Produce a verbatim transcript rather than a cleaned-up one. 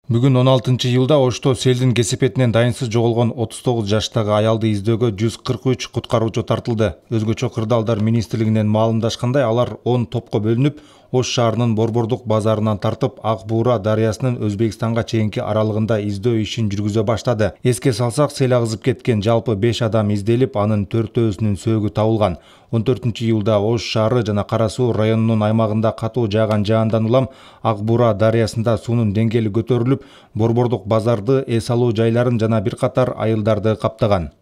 Бүгүн он алтынчы июлда Ошто селдин кесепетинен дайынсыз жоголгон отуз тогуз жаштагы аялды издөөгө жүз кырк үч куткаруучу тартылды. Өзгөчө кырдаалдар министрлигинен маалымдашкандай, алар он топко бөлүнүп, Ош шаарынын Борбордук базарынан тартып, Ак Буура дарыясынын Өзбекстанга чейинки аралыгында издөө ишин жүргүзө баштады. Эске салсак, сел агызып кеткен жалпы беш адам изделип, анын төртөөсүнүн сөөгү табылган. он төртүнчү июлда Ош шаары жана Кара Суу районунун аймагында катуу жааган жаандан улам Ак Буура дарыясында суунун деңгээли көтөрүлүп, Борбордук базарды, эс алуу жайларын жана бир катар айылдарды каптаган.